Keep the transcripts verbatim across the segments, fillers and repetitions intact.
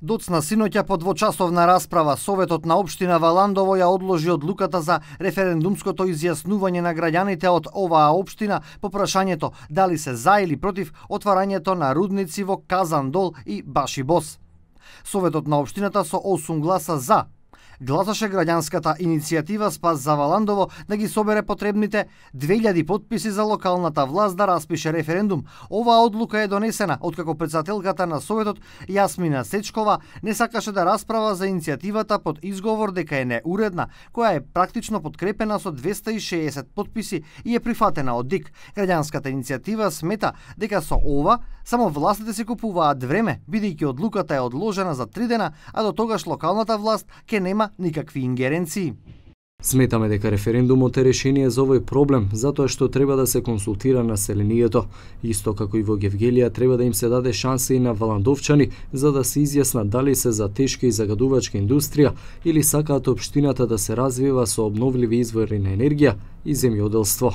Доцна синоќа по двочасовна расправа Советот на општина Валандово ја одложи одлуката за референдумското изјаснување на граѓаните од оваа општина по прашањето дали се за или против отварањето на рудници во Казандол и Башибос. Советот на општината со осум гласа за гласаше граѓанската иницијатива Спас за Валандово да ги собере потребните две илјади потписи за локалната власт да распише референдум. Оваа одлука е донесена откако претседателката на Советот Јасмина Сечкова не сакаше да расправа за иницијативата под изговор дека е неуредна, која е практично подкрепена со двесте и шеесет потписи и е прифатена од ДИК. Граѓанската иницијатива смета дека со ова само властите се купуваат време, бидејќи одлуката е одложена за три дена, а до тогаш локалната власт ќе нема никакви ингеренции. Сметаме дека референдумот е решение за овој проблем, затоа што треба да се консултира населението. Исто како и во Гевгелија треба да им се даде шанса и на валандовчани за да се изјаснат дали се за тешка и загадувачка индустрија или сакаат општината да се развива со обновливи извори на енергија и земјоделство.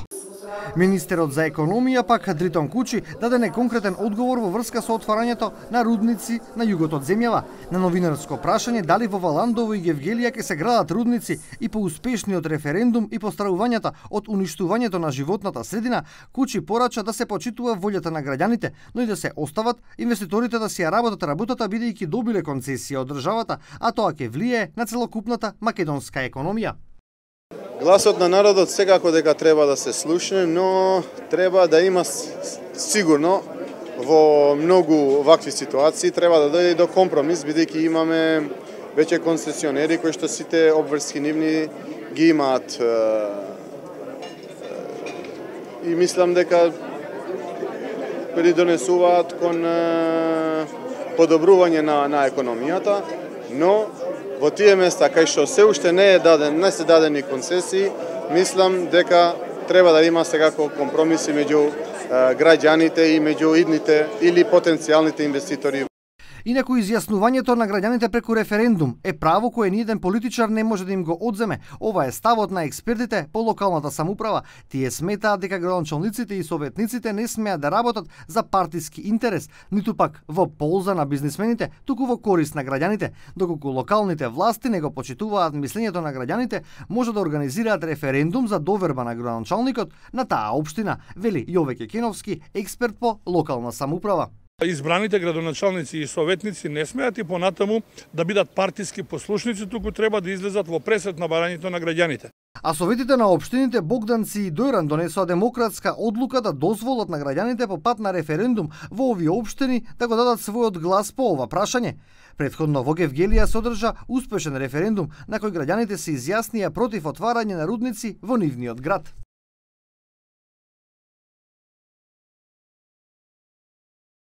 Министерот за економија пак Дритон Кучи даде неконкретен одговор во врска со отварањето на рудници на југот од земјава. На новинарско прашање дали во Валандово и Гевгелија ќе се градат рудници и по успешниот референдум и постравувањата од уништувањето на животната средина, Кучи порача да се почитува волјата на граѓаните, но и да се остават инвеститорите да си ја работат работата бидејќи добиле концесија од државата, а тоа ќе влијае на целокупната македонска економија. Гласот на народот секако дека треба да се слушне, но треба да има сигурно во многу вакви ситуации треба да дојде до компромис, бидејќи имаме веќе концесионери кои што сите обврски нивни ги имаат и мислам дека придонесуваат кон подобрување на, на економијата, но во тие места кај што се уште не е даден, не се дадени концесии, мислам дека треба да има секако компромиси меѓу граѓаните и меѓу идните или потенцијалните инвеститори. Инаку изјаснувањето на граѓаните преку референдум е право кое ниеден политичар не може да им го одземе. Ова е ставот на експертите по локалната самоуправа. Тие сметаат дека градоначалниците и советниците не смеат да работат за партиски интерес, ниту пак во полза на бизнисмените, туку во корист на граѓаните. Доколку локалните власти не го почитуваат мислењето на граѓаните, може да организираат референдум за доверба на градоначалникот на таа општина, вели Јове Кекеновски, експерт по локална самоуправа. Избраните градоначалници и советници не смеат и понатаму да бидат партиски послушници, туку треба да излезат во пресет на барањето на граѓаните. А советите на општините Богданци и Дојран донесоа демократска одлука да дозволат на граѓаните по пат на референдум во овие општини да го дадат својот глас по ова прашање. Претходно во Гевгелија се одржа успешен референдум на кој граѓаните се изјаснија против отварање на рудници во нивниот град.